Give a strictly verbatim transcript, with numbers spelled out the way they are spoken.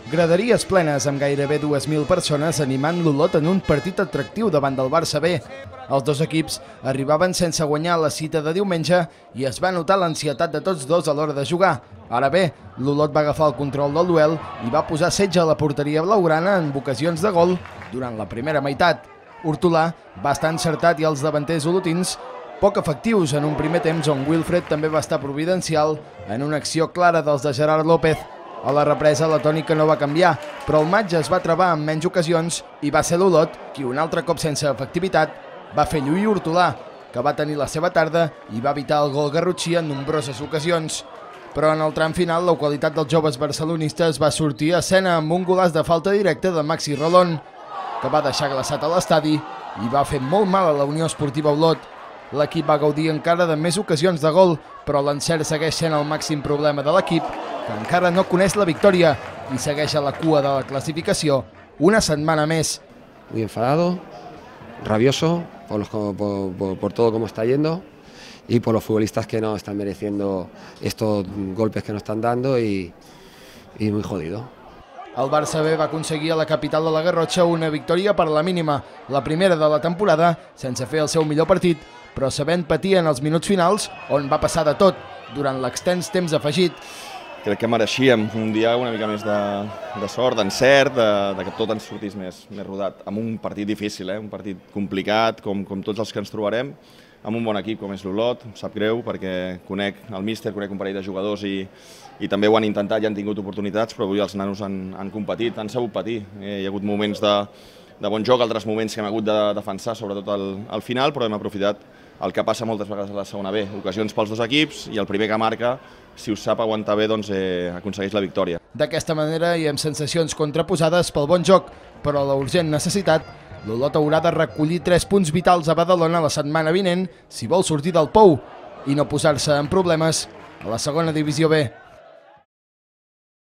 Graderies plenes amb gairebé dues mil persones animant l'Olot en un partit atractiu davant del Barça B. Els dos equips arribaven sense guanyar la cita de diumenge i es va notar l'ansietat de tots dos a l'hora de jugar. Ara bé, l'Olot va agafar el control del duel i va posar setge a la porteria blaugrana en ocasions de gol durant la primera meitat. Hortolà va estar encertat i els davanters olotins poc efectius en un primer temps on Wilfred també va estar providencial en una acció clara dels de Gerard López. A la represa la tònica no va canviar, però el matx es va travar en menys ocasions i va ser l'Olot qui, un altre cop sense efectivitat, va fer lluir Hortolà, que va tenir la seva tarda i va evitar el gol garrotxí en nombroses ocasions. Però en el tram final la qualitat dels joves barcelonistes va sortir a escena amb un golaç de falta directa de Maxi Rolón, que va deixar glaçat a l'estadi i va fer molt mal a la Unió Esportiva Olot. L'equip va gaudir encara de més ocasions de gol, però l'encert segueix sent el màxim problema de l'equip, que encara no coneix la victòria y segueix a la cua de la clasificació una setmana més. Muy enfadado, rabioso por, los, por, por, por todo cómo está yendo y por los futbolistas que no están mereciendo estos golpes que nos están dando y, y muy jodido. El Barça B va aconseguir a la capital de la Garrotxa una victòria per la mínima, la primera de la temporada, sense fer el seu millor partit, però sabent patir en els minuts finals, on va passar de tot, durant l'extens temps afegit. Crec que mereixíem un dia una mica més de, de sort, d'encert, de, de que tot ens sortís més, més rodat. Amb un partit difícil, eh? Un partit complicat, com, com tots els que ens trobarem, amb un bon equip com és l'Olot. Em sap greu perquè conec el míster, conec un parell de jugadors i, i també ho han intentat i han tingut oportunitats, però avui els nanos han, han competit, han sabut patir. Eh, hi ha hagut moments de, de bon joc, altres moments que hem hagut de defensar, sobretot al, al final, però hem aprofitat el que passa moltes vegades a la segona B. Ocasions pels dos equips i el primer que marca, si ho sap aguantar bé, doncs eh, aconsegueix la victòria. D'aquesta manera i amb sensacions contraposades pel bon joc, però la urgent necessitat, l'Olot haurà de recollir tres punts vitals a Badalona la setmana vinent si vol sortir del pou i no posar-se en problemes a la segona divisió B.